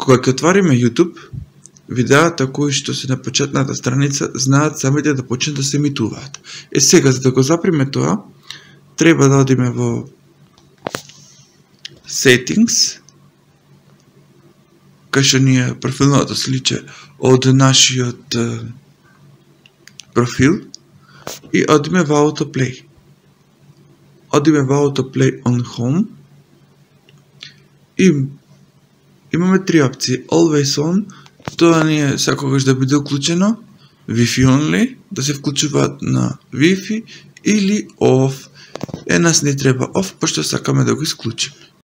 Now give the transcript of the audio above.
Кога ќе отвориме YouTube, видеата кои што се на почетната страница знаат самите да почнат да се емитуваат. Сега, за да го заприме тоа, треба да одиме во Settings, кај што ни е профилното сличе од нашиот профил, и одиме во Autoplay. Одиме во Autoplay on Home и имаме три опции. Always on, тоа ни е секогаш да биде уклучено, Wi-Fi only, да се вклучуваат на Wi-Fi, или off. Нас не треба off, пошто сакаме да го исклучиме.